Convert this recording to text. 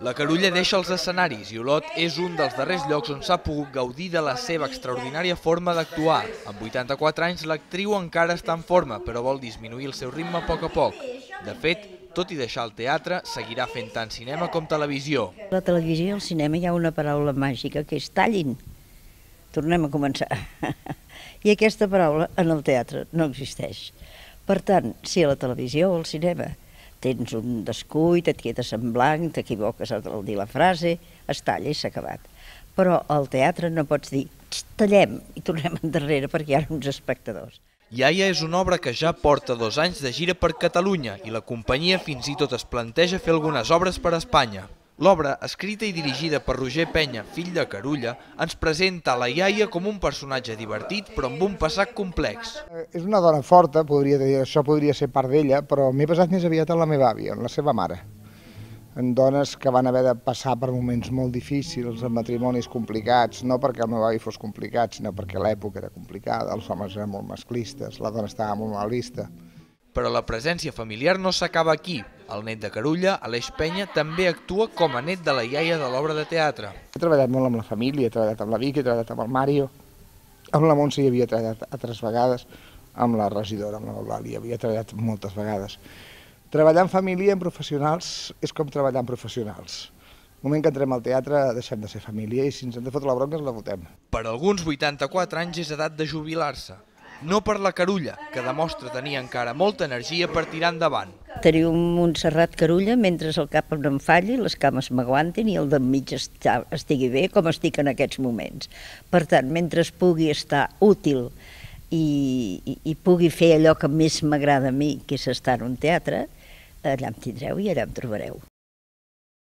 La Carulla deixa els escenaris i Olot és un dels darrers llocs on s'ha pogut gaudir de la seva extraordinària forma d'actuar. Amb 84 anys, l'actriu encara està en forma, però vol disminuir el seu ritme a poc. De fet, tot i deixar el teatre, seguirà fent tant cinema com televisió. A la televisió i al cinema hi ha una paraula màgica que és tallin. Tornem a començar. I aquesta paraula en el teatre no existeix. Per tant, si a la televisió o al cinema tens un descuit, et quedes en blanc, t'equivoques al dir la frase, es talla i s'ha acabat. Però al teatre no pots dir tallem i tornem endarrere perquè hi ha uns espectadors. Iaia és una obra que ja porta 2 anys de gira per Catalunya i la companyia fins i tot es planteja fer algunes obres per Espanya. L'obra, escrita i dirigida per Roger Penya, fill de Carulla, ens presenta la iaia com un personatge divertit però amb un passat complex. És una dona forta, podria dir, això podria ser part d'ella, però m'he basat més aviat en la meva àvia, en la seva mare. En dones que van haver de passar per moments molt difícils, en matrimonis complicats, no perquè el meu avi fos complicat, sinó perquè l'època era complicada, els homes eren molt masclistes, la dona estava molt mal vista. Però la presència familiar no s'acaba aquí. El net de Carulla, Aleix Penya, també actua com a net de la iaia de l'obra de teatre. He treballat molt amb la família, he treballat amb la Vicky, he treballat amb el Mario, amb la Montse hi havia treballat altres vegades, amb la regidora, amb l'Eulàlia, havia treballat moltes vegades. Treballar en família i en professionals és com treballar en professionals. El moment que entrem al teatre deixem de ser família i si ens hem de fotre la bronca ens la fotem. Per alguns 84 anys és edat de jubilar-se. No per la Carulla, que demostra tenir encara molta energia per tirar endavant. Teniu un Montserrat Carulla mentre el cap no em falli, les cames m'aguantin i el d'enmig estigui bé com estic en aquests moments. Per tant, mentre pugui estar útil i pugui fer allò que més m'agrada a mi, que és estar en un teatre, allà em tindreu i allà em trobareu.